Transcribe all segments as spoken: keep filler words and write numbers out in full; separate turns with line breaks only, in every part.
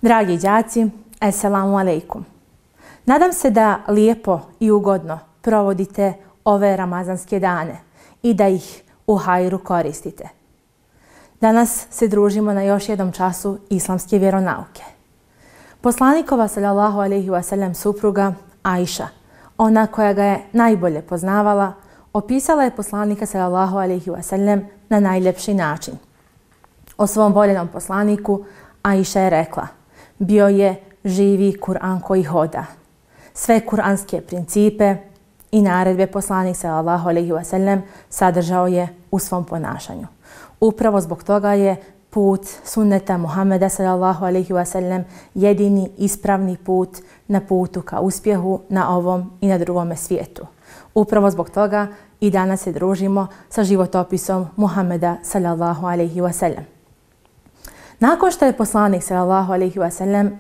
Dragi đaci, assalamu alaikum. Nadam se da lijepo i ugodno provodite ove ramazanske dane i da ih u hajru koristite. Danas se družimo na još jednom času islamske vjeronauke. Poslanikova sallallahu alejhi ve sellem supruga Ajša, ona koja ga je najbolje poznavala, opisala je poslanika sallallahu alejhi ve sellem na najljepši način. O svom voljenom poslaniku Ajša je rekla: bio je živi Kur'an koji hoda. Sve kuranske principe i naredbe poslanik sallallahu alejhi ve sellem sadržao je u svom ponašanju. Upravo zbog toga je put sunneta Muhameda sallallahu alejhi ve sellem jedini ispravni put na putu ka uspjehu na ovom i na drugome svijetu. Upravo zbog toga i danas se družimo sa životopisom Muhameda sallallahu alejhi ve sellem. Nakon što je poslanik sallallahu alejhi ve sellem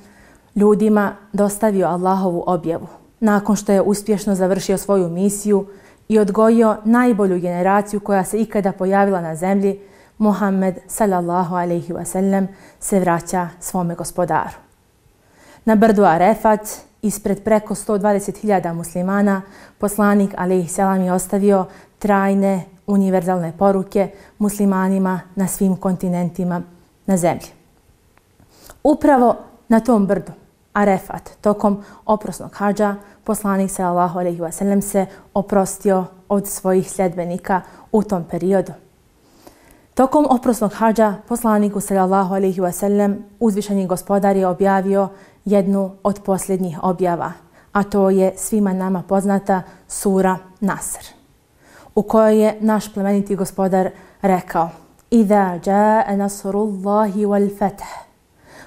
ljudima dostavio Allahovu objavu, nakon što je uspješno završio svoju misiju i odgojio najbolju generaciju koja se ikada pojavila na zemlji, Muhammed sallallahu alejhi ve sellem se vraća svome gospodaru. Na brdu Arefat, ispred preko sto dvadeset hiljada muslimana, poslanik alejhi selam je ostavio trajne univerzalne poruke muslimanima na svim kontinentima na zemlji. Upravo na tom brdu Arefat, tokom oprosnog hadža, poslanik sallallahu alejhi ve sellem se oprostio od svojih sljedbenika u tom periodu. Tokom oprosnog hadža poslaniku sallallahu alejhi ve sellem uzvišeni gospodar je objavio jednu od posljednjih objava, a to je svima nama poznata sura Nasr, u kojoj je naš plemeniti gospodar rekao: Iza jaa nasrullahi wal fath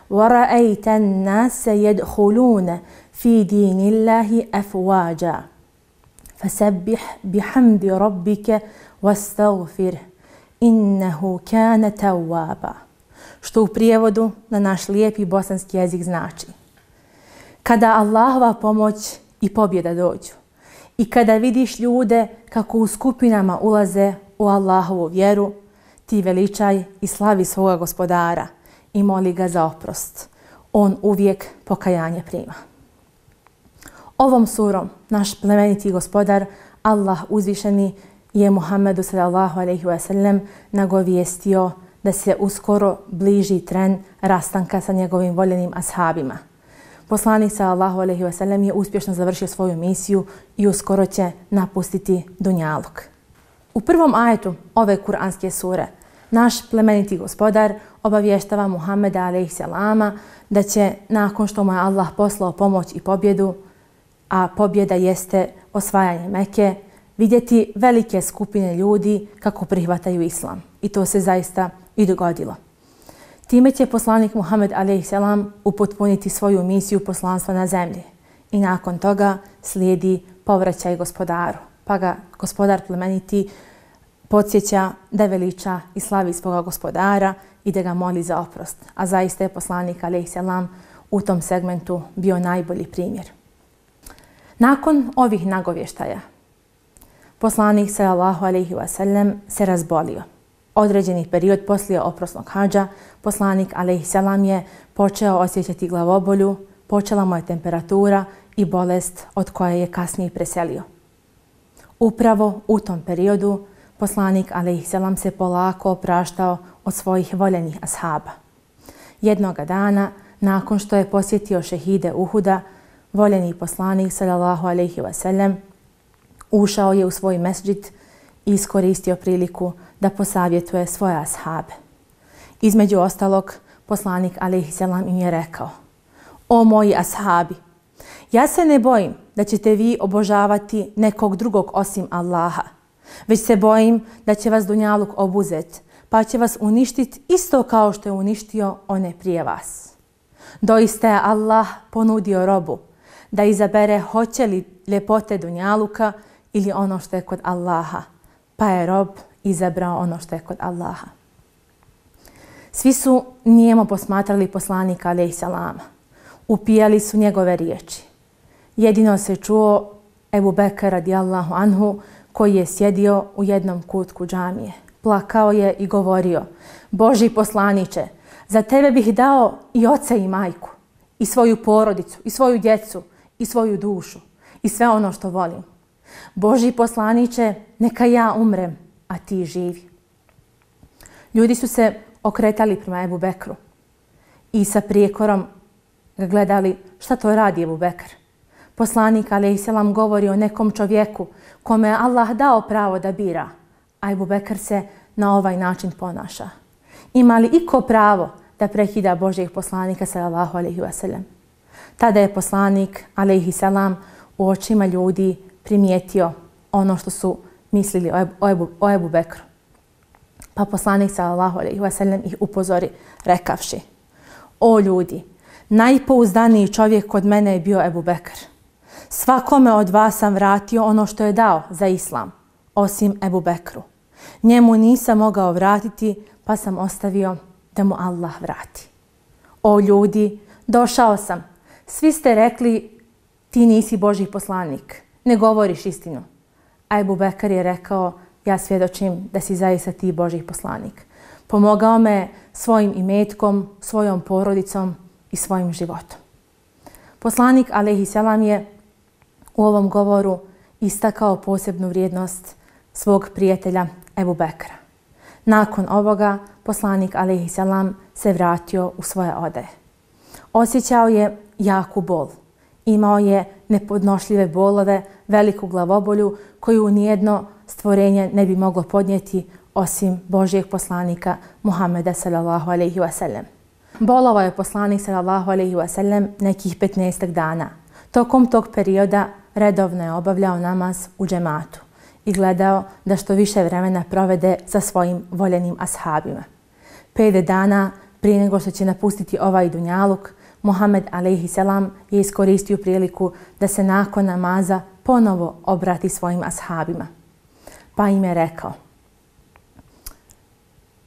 wa ra'ayta an-nasa yadkhuluna fi dinillahi afwaja fasabbih bihamdi rabbika wastaghfir innahu kana tawwaba. Što u prijevodu na naš lijepi bosanski jezik znači: kada Allahova pomoć i pobjeda dođu i kada vidiš ljude kako u skupinama ulaze u Allahovu vjeru, ti veličaj i slavi svoga gospodara i moli ga za oprost. On uvijek pokajanje prima. Ovom surom naš plemeniti gospodar Allah uzvišeni je Muhammedu sallallahu alejhi ve sellem nagovijestio da se uskoro bliži tren rastanka sa njegovim voljenim ashabima. Poslanik sallallahu alejhi ve sellem je uspješno završio svoju misiju i uskoro će napustiti dunjaluk. U prvom ajetu ove kuranske sure naš plemeniti gospodar obavještava Muhammeda alejhi selama da će, nakon što mu je Allah poslao pomoć i pobjedu, a pobjeda jeste osvajanje Mekke, vidjeti velike skupine ljudi kako prihvataju islam. I to se zaista i dogodilo. Time će poslanik Muhammed alejhi selam upotpuniti svoju misiju poslanstva na zemlji. I nakon toga slijedi povraćaj gospodaru. Pa ga gospodar plemeniti podsjeća da veliča i slavi svoga gospodara i da ga moli za oprost. A zaista je poslanik alejhi selam u tom segmentu bio najbolji primjer. Nakon ovih nagovještaja, poslanik sallallahu alejhi ve sellem se razbolio. Određeni period poslije oprosnog hadža, poslanik alejhi selam je počeo osjećati glavobolju, počela mu je temperatura i bolest od koje je kasnije preselio. Upravo u tom periodu poslanik alejhi selam se polako opraštao od svojih voljenih ashaba. Jednoga dana, nakon što je posjetio šehide Uhuda, voljeni poslanik sallallahu alejhi ve sellem ušao je u svoj mesdžid i iskoristio priliku da posavjetuje svoje ashabe. Između ostalog, poslanik alejhi selam im je rekao: o moji ashabi, ja se ne bojim da ćete vi obožavati nekog drugog osim Allaha, već se bojim da će vas dunjaluk obuzet, pa će vas uništiti isto kao što je uništio one prije vas. Doista je Allah ponudio robu da izabere hoće li ljepote dunjaluka ili ono što je kod Allaha, pa je rob izabrao ono što je kod Allaha. Svi su nijemo posmatrali poslanika alejhi selama. Upijali su njegove riječi. Jedino se čuo Ebu Bekr radijallahu anhu, koji je sjedio u jednom kutku džamije. Plakao je i govorio: Boži poslaniče, za tebe bih dao i oca i majku. i svoju porodicu, i svoju djecu, i svoju dušu, i sve ono što volim. Božji poslaniče, neka ja umrem, a ti živi. Ljudi su se okretali prema Ebu Bekru i sa prijekorom ga gledali šta to radi Ebu Bekr. Poslanik alejselam govori o nekom čovjeku kome je Allah dao pravo da bira, a Ebu Bekr se na ovaj način ponaša. Ima li iko pravo da prekida Božjeg poslanika sallallahu alejhi ve sellem? Tada je poslanik alejselam u očima ljudi primijetio ono što su mislili o Ebu, o Ebu, o Ebu Bekru. Pa poslanik sallallahu alejhi ve sellem ih upozori rekavši: o ljudi, najpouzdaniji čovjek kod mene je bio Ebu Bekr. Svakome od vas sam vratio ono što je dao za islam, osim Ebu Bekru. Njemu nisam mogao vratiti, pa sam ostavio da mu Allah vrati. O ljudi, došao sam. Svi ste rekli ti nisi Božji poslanik, ne govoriš istinu. A Ebu Bekr je rekao: ja svjedočim da si zaista ti Božji poslanik. Pomogao me svojim imetkom, svojom porodicom i svojim životom. Poslanik alejselam je u ovom govoru istakao posebnu vrijednost svog prijatelja Ebu Bekra. Nakon ovoga poslanik alejselam se vratio u svoje odaje. Osjećao je jaku bol. Imao je nepodnošljive bolove, veliku glavobolju koju nijedno stvorenje ne bi moglo podnijeti osim Božjeg poslanika Muhameda sallallahu alejhi ve sellem. Bolovao je poslanik sallallahu alejhi ve sellem nekih petnaestak dana. Tokom tog perioda redovno je obavljao namaz u džematu i gledao da što više vremena provede sa svojim voljenim ashabima. Pet dana prije nego što će napustiti ovaj dunjaluk, Muhammed alejselam je iskoristio priliku da se nakon namaza ponovo obrati svojim ashabima. Pa im je rekao: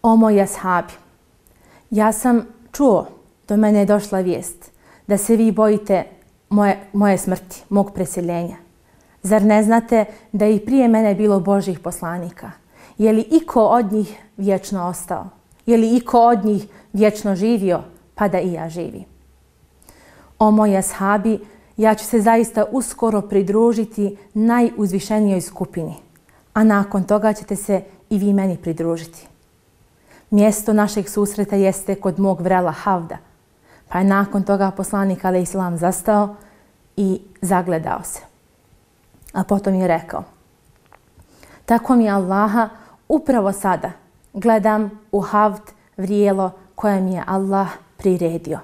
o moji ashabi, ja sam čuo, do mene je došla vijest da se vi bojite moje, moje smrti, mog preseljenja. Zar ne znate da je i prije mene bilo Božjih poslanika? Je li iko od njih vječno ostao? Je li iko od njih vječno živio, pa da i ja živim? O moji ashabi, ja ću se zaista uskoro pridružiti najuzvišenijoj skupini, a nakon toga ćete se i vi meni pridružiti. Mjesto našeg susreta jeste kod mog vrela Havda, pa je nakon toga poslanik alejselam zastao i zagledao se. A potom je rekao: tako mi Allaha, upravo sada gledam u Havd vrijelo koje mi je Allah priredio.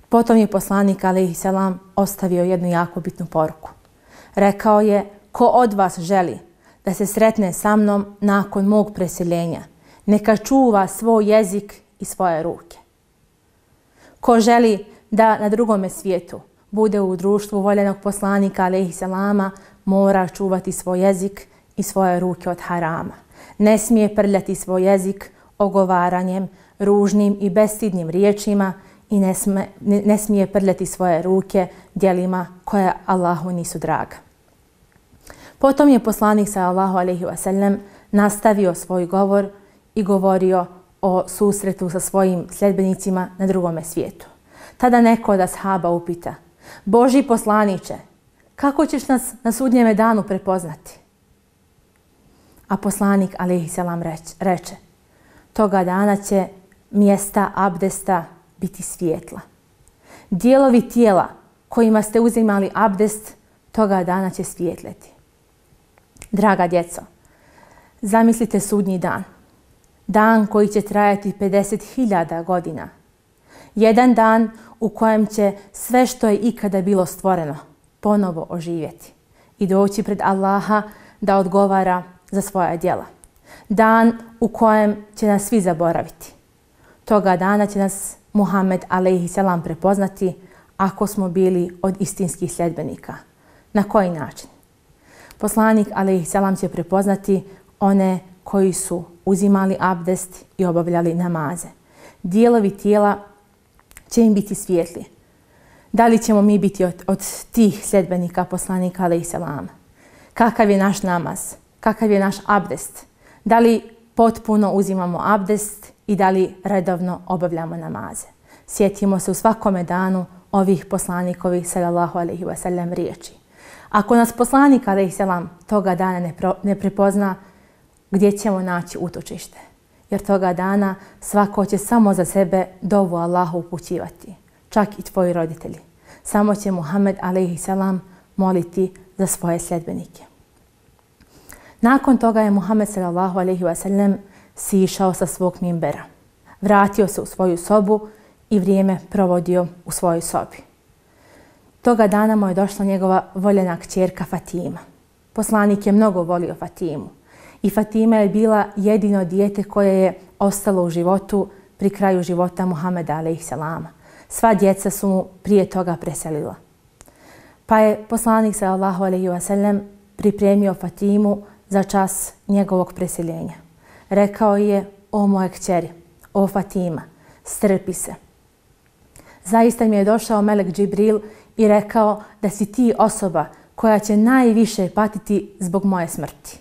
Potom je poslanik alejselam ostavio jednu jako bitnu poruku. Rekao je: ko od vas želi da se sretne sa mnom nakon mog preseljenja, neka čuva svoj jezik i svoje ruke. Ko želi da na drugome svijetu bude u društvu voljenog poslanika alejselama, mora čuvati svoj jezik i svoje ruke od harama. Ne smije prljati svoj jezik ogovaranjem, ružnim i bestidnim riječima i ne, sme, ne, ne smije prljati svoje ruke djelima koje Allahu nisu draga. Potom je poslanik sallallahu alejhi ve sellem nastavio svoj govor i govorio o susretu sa svojim sljedbenicima na drugome svijetu. Tada neko od ashaba upita: Božji poslaniče, kako ćeš nas na sudnjeme danu prepoznati? A poslanik alejselam reče: toga dana će mjesta abdesta biti svijetla. Dijelovi tijela kojima ste uzimali abdest toga dana će svijetleti. Draga djeco, zamislite sudnji dan. Dan koji će trajati pedeset hiljada godina. Jedan dan u kojem će sve što je ikada bilo stvoreno ponovo oživjeti i doći pred Allaha da odgovara za svoja djela. Dan u kojem će nas svi zaboraviti. Toga dana će nas Muhammed alejselam prepoznati ako smo bili od istinskih sljedbenika. Na koji način? Poslanik alejselam će prepoznati one koji su uzimali abdest i obavljali namaze. Dijelovi tijela će im biti svijetli. Da li ćemo mi biti od, od tih sljedbenika poslanika alejselama? Kakav je naš namaz? Kakav je naš abdest? Da li potpuno uzimamo abdest i da li redovno obavljamo namaze? Sjetimo se u svakome danu ovih poslanikovih sallallahu alejhi ve sellem riječi. Ako nas poslanik alejhi selam toga dana ne, pro, ne prepozna, gdje ćemo naći utočište? Jer toga dana svako će samo za sebe dovu Allahu upućivati, čak i tvoji roditelji. Samo će Muhammed alejhi selam moliti za svoje sljedbenike. Nakon toga je Muhammed sallallahu alejhi ve sellem sišao sa svog minbera. Vratio se u svoju sobu i vrijeme provodio u svojoj sobi. Toga dana mu je došla njegova voljena kćerka Fatima. Poslanik je mnogo volio Fatimu i Fatima je bila jedino dijete koje je ostalo u životu pri kraju života Muhameda alejhi selama. Sva djeca su mu prije toga preselila. Pa je poslanik sallallahu alejhi ve sellem pripremio Fatimu za čas njegovog preseljenja. Rekao je: o moje kćeri, o Fatima, strpi se. Zaista mi je došao melek Džibril i rekao da si ti osoba koja će najviše patiti zbog moje smrti.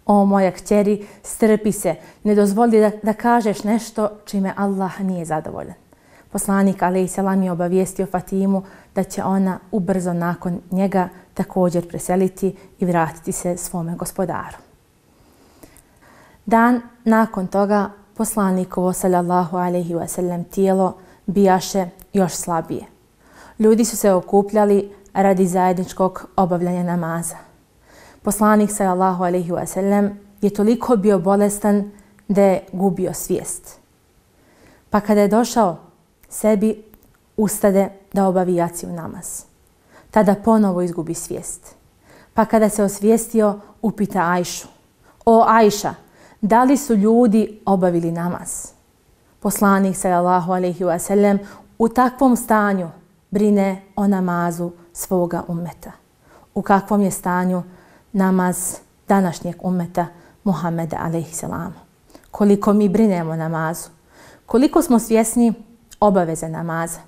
O moja kćeri, strpi se, ne dozvoli da, da kažeš nešto čime Allah nije zadovoljan. Poslanik alejhi selam je obavijestio Fatimu da će ona ubrzo nakon njega također preseliti i vratiti se svome gospodaru. Dan nakon toga poslanikovo sallallahu alejhi ve sellem tijelo bijaše još slabije. Ljudi su se okupljali radi zajedničkog obavljanja namaza. Poslanik sallallahu alejhi ve sellem je toliko bio bolestan da je gubio svijest. Pa kada je došao sebi, ustade da obavi jaciju namaz. Tada ponovo izgubi svijest. Pa kada se osvijestio, upita Ajšu: o Ajša, da li su ljudi obavili namaz? Poslanik sallallahu alejhi ve sellem u takvom stanju brine o namazu svoga ummeta. U kakvom je stanju namaz današnjeg ummeta Muhameda alejhi selama? Koliko mi brinemo o namazu? Koliko smo svjesni obaveze namaza?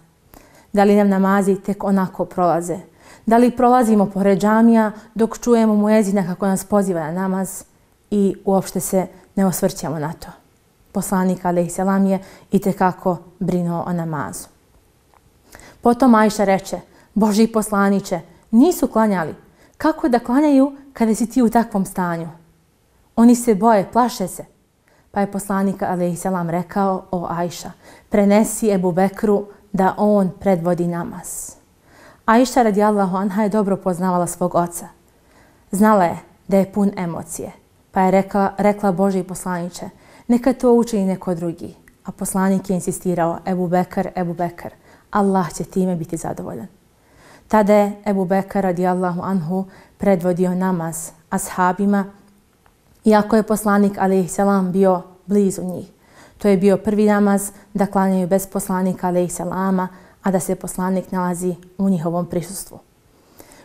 Da li nam namazi tek onako prolaze? Da li prolazimo pored džamija dok čujemo muezina kako nas poziva na namaz i uopšte se ne osvrćemo na to? Poslanik alejhi selam je itekako brinuo o namazu. Potom Ajša reče: Božji poslaniče, nisu klanjali. Kako da klanjaju kada si ti u takvom stanju? Oni se boje, plaše se. Pa je poslanik alejhi selam rekao: o Ajša, prenesi Ebu Bekru da on predvodi namaz. Ajša radijallahu anha je dobro poznavala svog oca. Znala je da je pun emocije, pa je rekla, rekla Božji poslaniče: neka to učini neko drugi. A poslanik je insistirao: Ebu Bekr, Ebu Bekr, Allah će time biti zadovoljan. Tada je Ebu Bekr radijallahu anhu predvodio namaz ashabima, iako je poslanik alejhi selam bio blizu njih. To je bio prvi namaz da klanjaju bez poslanika alejhi selama, a da se poslanik nalazi u njihovom prisustvu.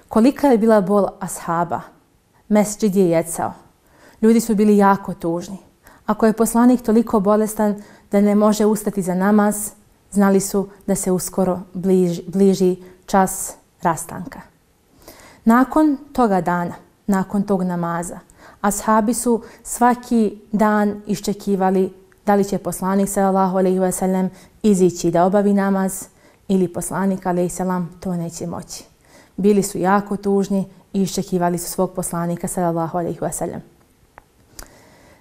Kolika je bila bol ashaba? Mesdžid je jecao. Ljudi su bili jako tužni. Ako je poslanik toliko bolestan da ne može ustati za namaz, znali su da se uskoro bliži, bliži čas rastanka. Nakon toga dana, nakon tog namaza, ashabi su svaki dan iščekivali da li će poslanik sallallahu alejhi ve sellem izići da obavi namaz ili poslanik alejhi selam to neće moći. Bili su jako tužni i iščekivali su svog poslanika sallallahu alejhi ve sellem.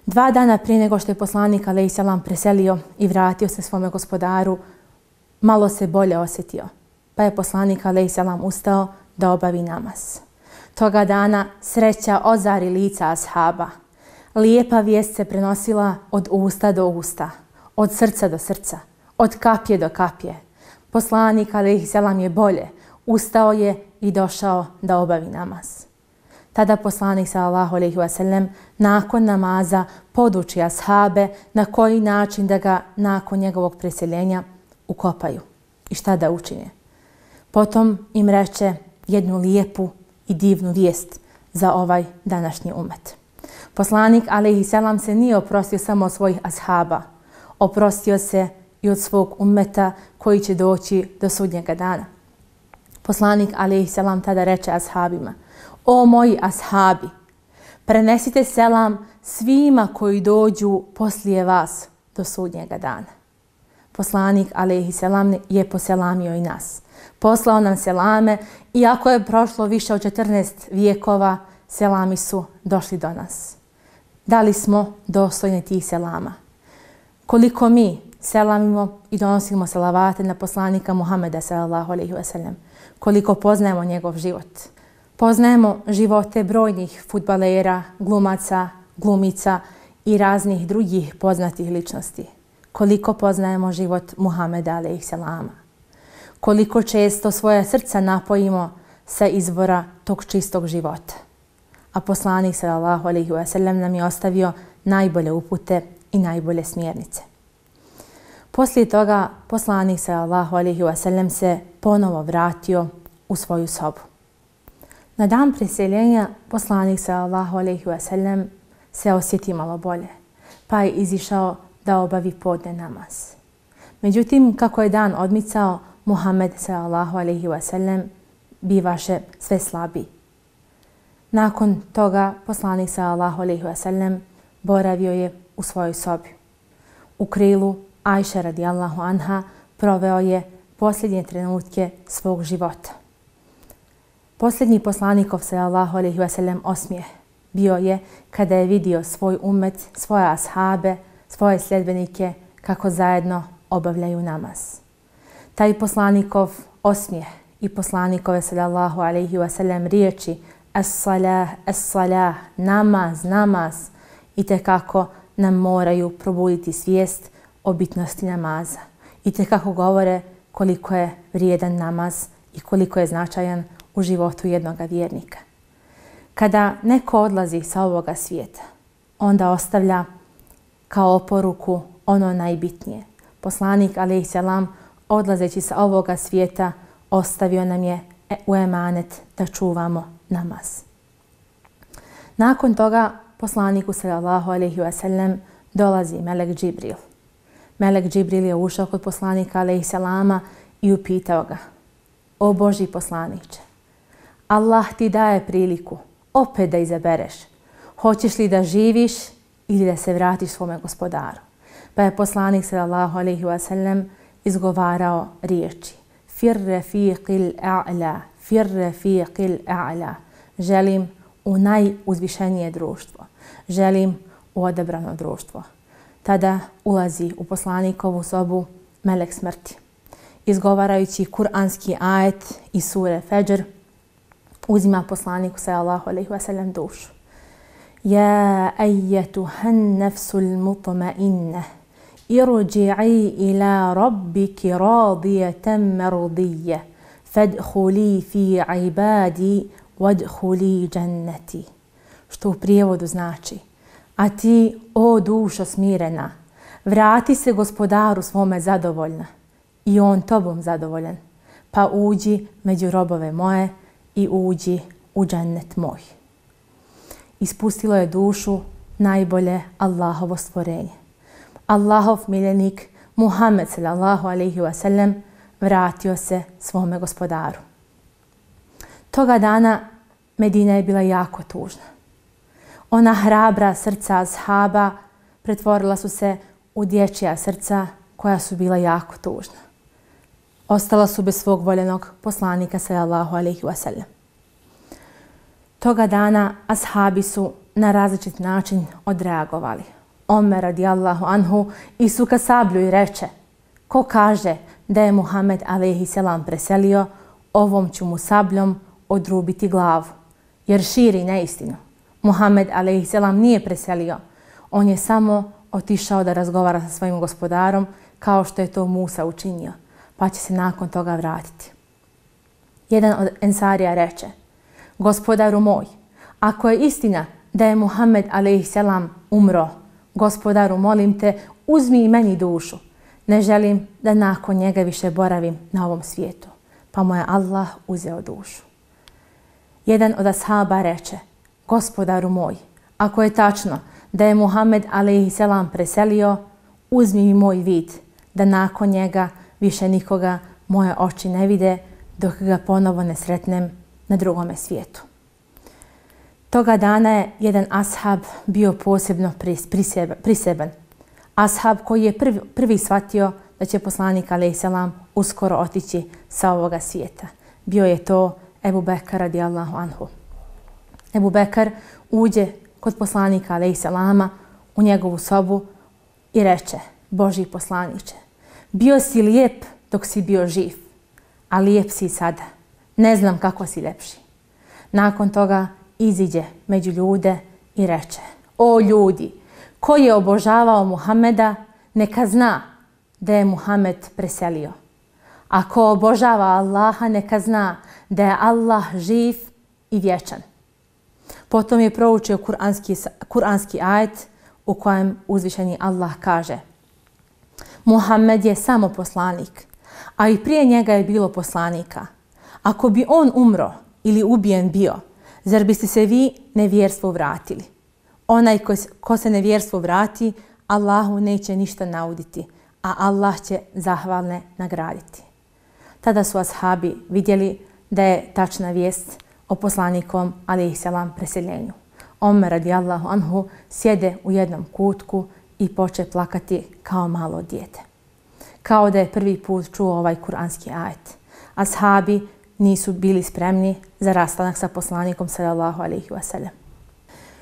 Dva dana prije nego što je poslanik alejhi selam preselio i vratio se svome gospodaru, malo se bolje osjetio, pa je poslanik alejhi selam ustao da obavi namaz. Toga dana sreća ozari lica ashaba. Lijepa vijest se prenosila od usta do usta, od srca do srca, od kapje do kapje. Poslanik alejhi selam je bolje, ustao je i došao da obavi namaz. Tada poslanik sallallahu alejhi ve sellem nakon namaza poduči ashabe na koji način da ga nakon njegovog preseljenja ukopaju i šta da učine. Potom im reče jednu lijepu i divnu vijest za ovaj današnji umet. Poslanik alejhi selam se nije oprostio samo od svojih ashaba, oprostio se i od svog ummeta koji će doći do sudnjega dana. Poslanik alejhi selam tada reče ashabima: o moji ashabi, prenesite selam svima koji dođu poslije vas do sudnjega dana. poslanik alejhi selam je poselamio i nas. Poslao nam selame, iako je prošlo više od četrnaest vijekova, selami su došli do nas. Da li smo dostojni tih selama? Koliko mi selamimo i donosimo salavate na poslanika Muhameda sallallahu alejhi ve sellem? Koliko poznajemo njegov život? Poznajemo živote brojnih fudbalera, glumaca, glumica i raznih drugih poznatih ličnosti. Koliko poznajemo život Muhameda alejhi selama? Koliko često svoje srca napojimo sa izvora tog čistog života? A poslanik sallallahu alejhi ve sellem nam je ostavio najbolje upute i najbolje smjernice. Poslije toga poslanik sallallahu alejhi ve sellem se ponovo vratio u svoju sobu. Na dan preseljenja poslanik sallallahu alejhi ve sellem se osjeti malo bolje, pa je izišao da obavi podne namaz. Međutim, kako je dan odmicao, Muhammed sallallahu alejhi ve sellem bivaše sve slabiji. Nakon toga poslanik sallallahu alejhi ve sellem boravio je u svojoj sobi. U krilu Ajše radijallahu anha proveo je posljednje trenutke svog života. Posljednji poslanikov sallallahu alejhi ve sellem osmijeh bio je kada je vidio svoj ummet, svoje ashabe, svoje sljedbenike kako zajedno obavljaju namaz. Taj poslanikov osmijeh i poslanikove sallallahu alejhi ve sellem riječi as-salah, as-salah, namaz, namaz, itekako nam moraju probuditi svijest o bitnosti namaza. Itekako govore koliko je vrijedan namaz i koliko je značajan u životu jednoga vjernika. Kada neko odlazi sa ovoga svijeta, onda ostavlja kao oporuku ono najbitnije. Poslanik alejhi selam odlazeći sa ovoga svijeta ostavio nam je u emanet da čuvamo namaz. Nakon toga poslaniku sallallahu alejhi ve sellem dolazi melek Džibril. Melek Džibril je ušao kod poslanika alejhi selama i upitao ga: O Božji poslaniče, Allah ti daje priliku opet da izabereš. Hoćeš li da živiš ili da se vratiš svome gospodaru? Pa je poslanik sallallahu alejhi ve sellem izgovarao riječi: Fir rafiqil a'la, fir rafiqil a'la. Želim u najuzvišenije društvo. Želim u odabrano društvo. Tada ulazi u poslanikovu sobu melek smrti. Izgovarajući kuranski ajet iz sure Fedžr, uzima poslaniku sallallahu alejhi ve sellem dušu. Ja ayyatuhan nafsul mutma'inna irji'i ila rabbiki radiyatan mardiyya fadkhuli fi ibadi wadkhuli jannati. Što u prijevodu znači: a ti, o dušo smirena, vrati se gospodaru svome zadovoljna i on tobom zadovoljan, pa uđi među robove moje i uđi u džennet moj. Ispustilo je dušu najbolje Allahovo stvorenje. Allahov miljenik Muhammed sallallahu alejhi ve sellem vratio se svome gospodaru. Toga dana Medina je bila jako tužna. Ona hrabra srca ashaba pretvorila su se u dječja srca koja su bila jako tužna. Ostala su bez svog voljenog poslanika sallallahu alejhi ve sellem. Toga dana ashabi su na različit način odreagovali. Omer radijallahu anhu isuka sablju i reče: ko kaže da je Muhammed alejhi selam preselio, ovom ću mu sabljom odrubiti glavu, jer širi neistinu. Muhammed alejhi selam nije preselio, on je samo otišao da razgovara sa svojim gospodarom kao što je to Musa učinio, pa će se nakon toga vratiti. Jedan od ensarija reče: gospodaru moj, ako je istina da je Muhammed alejhi selam umro, gospodaru molim te, uzmi i meni dušu. Ne želim da nakon njega više boravim na ovom svijetu. Pa mu je Allah uzeo dušu. Jedan od ashaba reče: gospodaru moj, ako je tačno da je Muhammed alejhi selam preselio, uzmi mi moj vid, da nakon njega više nikoga moje oči ne vide dok ga ponovo ne sretnem na drugome svijetu. Toga dana je jedan ashab bio posebno priseban. Ashab koji je prvi, prvi shvatio da će poslanik alejselam uskoro otići sa ovoga svijeta. Bio je to Ebu Bekr radijallahu anhu. Ebu Bekr uđe kod poslanika alejselama u njegovu sobu i reče: Božji poslaniče, bio si lijep dok si bio živ, a lijep si sada. Ne znam kako si ljepši. Nakon toga iziđe među ljude i reče: O ljudi, ko je obožavao Muhameda, neka zna da je Muhammed preselio. A ko obožava Allaha, neka zna da je Allah živ i vječan. Potom je proučio kuranski, kuranski ajet u kojem uzvišeni Allah kaže: Muhammed je samo poslanik, a i prije njega je bilo poslanika. Ako bi on umro ili ubijen bio, zar biste se vi nevjerstvu vratili? Onaj ko, ko se nevjerstvu vrati, Allahu neće ništa nauditi, a Allah će zahvalne nagraditi. Tada su ashabi vidjeli da je tačna vijest o poslanikom alejselam preseljenju. Omer radijallahu anhu sjede u jednom kutku i poče plakati kao malo dijete. Kao da je prvi put čuo ovaj kuranski ajet. Ashabi nisu bili spremni za rastanak sa poslanikom sallallahu alejhi ve sellem.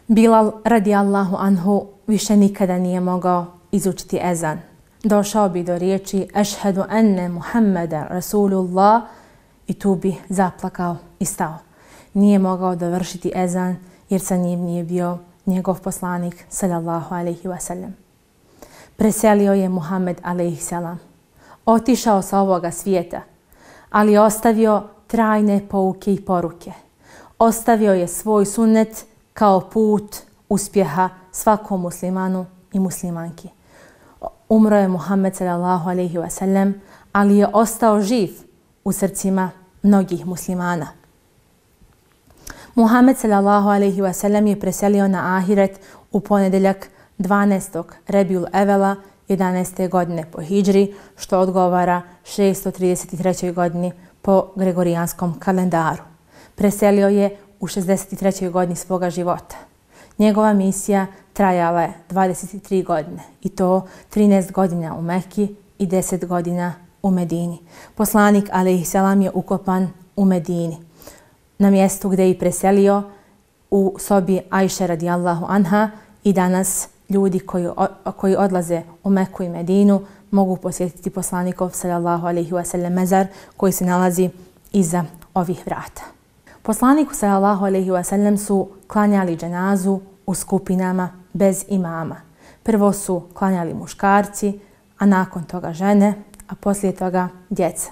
Bilal radijallahu anhu više nikada nije mogao izučiti ezan. Došao bi do riječi Ešhedu enne Muhammeda Rasulullah i tu bi zaplakao i stao. Nije mogao dovršiti ezan jer sa njim nije bio njegov poslanik sallallahu alejhi ve sellem. Preselio je Muhammed alejhi selam. Otišao sa ovoga svijeta, ali ostavio trajne pouke i poruke. Ostavio je svoj sunnet kao put uspjeha svakom muslimanu i muslimanki. Umro je Muhammed sallallahu alejhi ve sellem, ali je ostao živ u srcima mnogih muslimana. Muhammed sallallahu alejhi ve sellem je preselio na ahiret u ponedjeljak dvanaestog Rebijul Evela jedanaeste godine po hidžri, što odgovara šesto trideset trećoj godini po gregorijanskom kalendaru. Preselio je u šezdeset trećoj godini svoga života. Njegova misija trajala je dvadeset tri godine i to trinaest godina u Mekki i deset godina u Medini. Poslanik alejselam je ukopan u Medini, na mjestu gdje je preselio u sobi Ajše radijallahu anha, i danas ljudi koji, koji odlaze u Meku i Medinu mogu posjetiti poslanikov sallallahu alejhi ve sellem mezar koji se nalazi iza ovih vrata. Poslaniku sallallahu alejhi ve sellem su klanjali dženazu u skupinama bez imama. Prvo su klanjali muškarci, a nakon toga žene, a poslije toga djeca.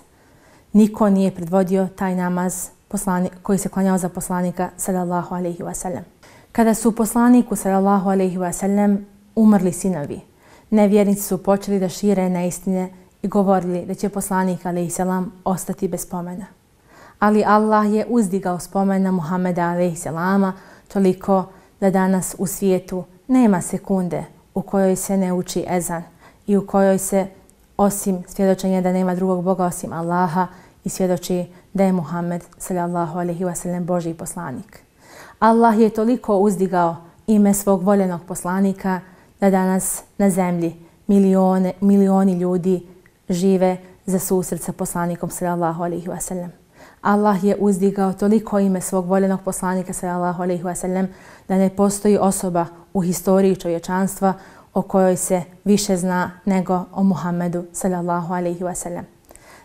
Niko nije predvodio taj namaz poslanik, koji se klanjao za poslanika sallallahu alejhi ve sellem. Kada su poslaniku sallallahu alejhi ve sellem umrli sinovi, nevjernici su počeli da šire neistine i govorili da će poslanik alejhi selam ostati bez spomena. Ali Allah je uzdigao spomen na Muhameda alejhi selama toliko da danas u svijetu nema sekunde u kojoj se ne uči ezan i u kojoj se, osim svjedočenja da nema drugog Boga osim Allaha, i svjedoči da je Muhammed sallallahu alejhi ve sellem Božji poslanik. Allah je toliko uzdigao ime svog voljenog poslanika da danas na zemlji milione, milioni ljudi žive za susret sa poslanikom sallallahu alejhi ve sellem. Allah je uzdigao toliko ime svog voljenog poslanika sallallahu alejhi ve sellem da ne postoji osoba u historiji čovječanstva o kojoj se više zna nego o Muhammedu sallallahu alejhi ve sellem.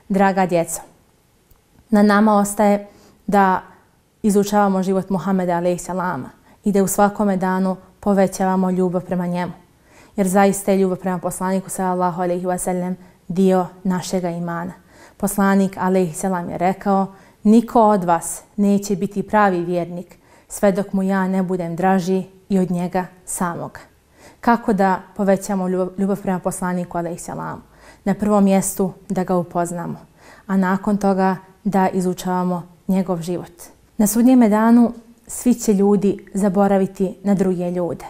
Draga djeco, na nama ostaje da izučavamo život Muhammeda alejhi selama i da u svakome danu povećavamo ljubav prema njemu. Jer zaista je ljubav prema poslaniku sallallahu alejhi ve sellem dio našega imana. Poslanik alejhi selam je rekao: niko od vas neće biti pravi vjernik sve dok mu ja ne budem draži i od njega samoga. Kako da povećamo ljubav prema poslaniku alejhi selamu? Na prvom mjestu da ga upoznamo, a nakon toga da izučavamo njegov život. Na sudnjeme danu svi će ljudi zaboraviti na druge ljude.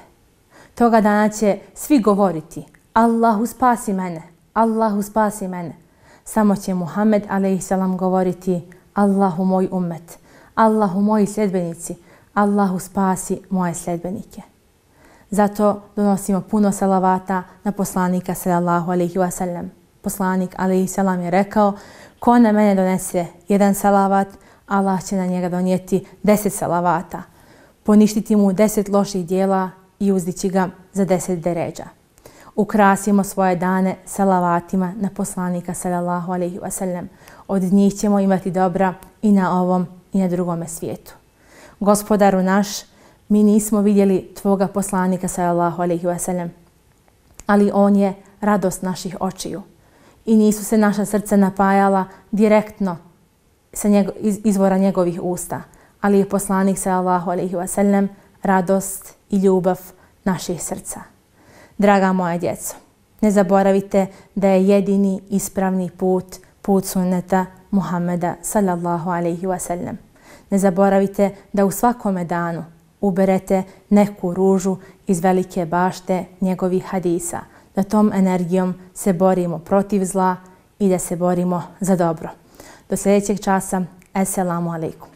Toga dana će svi govoriti: Allahu spasi mene, Allahu spasi mene. Samo će Muhammed alejhi selam govoriti: Allahu moj ummet, Allahu moji sljedbenici, Allahu spasi moje sljedbenike. Zato donosimo puno salavata na poslanika sallallahu alejhi ve sellem. poslanik alejhi selam je rekao: ko na mene donese jedan salavat, Allah će na njega donijeti deset salavata, poništiti mu deset loših dijela i uzdići ga za deset deređa. Ukrasimo svoje dane salavatima na poslanika sallallahu alejhi ve sellem. Od njih ćemo imati dobra i na ovom i na drugome svijetu. Gospodaru naš, mi nismo vidjeli tvoga poslanika sallallahu alejhi ve sellem, ali on je radost naših očiju i nisu se naša srca napajala direktno sa njego, iz, izvora njegovih usta, ali je poslanik sallallahu alejhi ve sellem radost i ljubav naših srca. Draga moja djeco, ne zaboravite da je jedini ispravni put put sunneta Muhammeda sallallahu alejhi ve sellem. Ne zaboravite da u svakome danu uberete neku ružu iz velike bašte njegovih hadisa, da tom energijom se borimo protiv zla i da se borimo za dobro. Do sljedećeg časa, Esselamu alaikum.